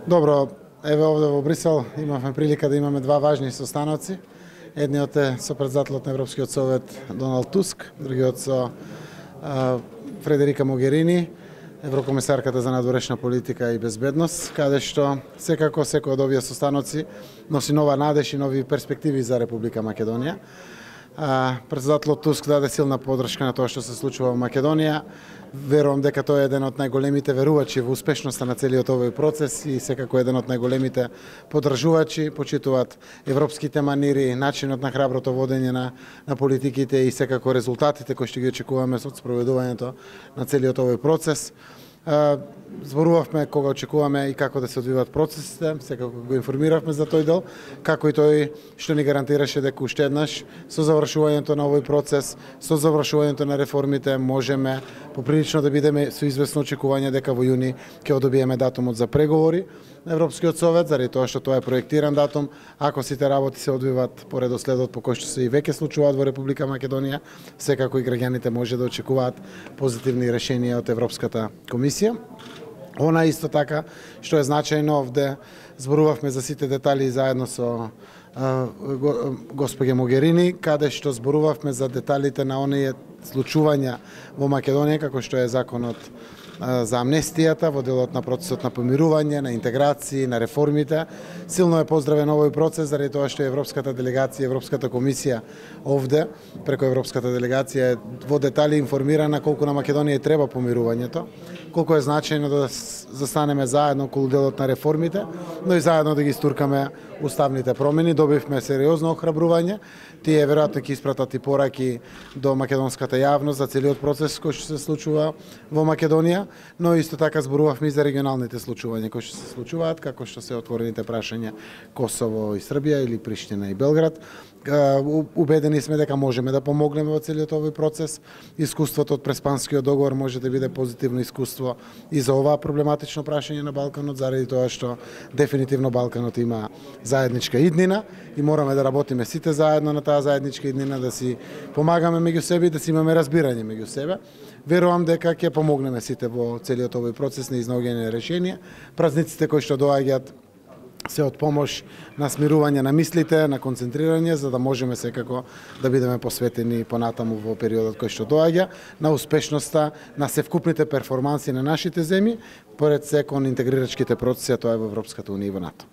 Добро, еве овде во Брисел имавме прилика да имаме два важни состаноци. Едниот е со председателот на Европскиот совет Доналд Туск, другиот со Фредерика Могерини, еврокомисарката за надворешна политика и безбедност, каде што секако секој од овие состаноци носи нова надеж и нови перспективи за Република Македонија. Председателот Туск даде силна поддршка на тоа што се случува во Македонија. Верувам дека тој е еден од најголемите верувачи во успешноста на целиот овој процес и секако еден од најголемите поддржувачи, почитуваат европските манири, начинот на храброто водење на политиките и секако резултатите кои што ги очекуваме со спроведувањето на целиот овој процес. Зборувавме кога очекуваме и како да се одвиваат процесите, секако го информиравме за тој дел, како и тој што ни гарантираше дека уште еднаш со завршувањето на овој процес, со завршувањето на реформите можеме поприлично да бидеме со известно очекување дека во јуни ќе одобиеме датумот за преговори на Европскиот совет, заради тоа што тоа е проектиран датум. Ако сите работи се одвиваат по редоследот по кој што се и веќе случуваат во Република Македонија, секако и граѓаните може да очекуваат позитивни решенија од Европската комисија. Она исто така што е значајно, овде зборувавме за сите детали заедно со госпоѓа Могерини, каде што зборувавме за деталите на оние случувања во Македонија, како што е законот за амнестијата, во делот на процесот на помирување, на интеграција, на реформите. Силно е поздравен овој процес, заради тоа што Европската делегација, Европската комисија овде, преку Европската делегација е во детали информирана колку на Македонија треба помирувањето, колку е значајно да застанеме заедно околу делот на реформите, но и заедно да ги стуркаме уставните промени. Добивме сериозно охрабрување. Тие веројатно ќе испратат и пораки до македонската јавност за целиот процес кој што се случува во Македонија, но исто така зборувавме и за регионалните случувања кои што се случуваат, како што се отворените прашања Косово и Србија или Приштина и Белград. Убедени сме дека можеме да помогнеме во целиот овој процес. Искуството од Преспанскиот договор може да биде позитивно искуство и за оваа проблематично прашање на Балканот, заради тоа што дефинитивно Балканот има заедничка иднина и мораме да работиме сите заедно на таа заедничка иднина, да си помагаме меѓу себе и да си имаме разбирање меѓу себе. Верувам дека ќе помогнеме сите во целиот овој процес на изнаоѓање на решенија. Празниците кои што доаѓаат се од помош на смирување на мислите, на концентрирање, за да можеме секако да бидеме посветени понатаму во периодот кој што доаѓа, на успешноста на севкупните перформанси на нашите земји, поред се кон интегрирачките процеси, а тоа е во Европската унија и во НАТО.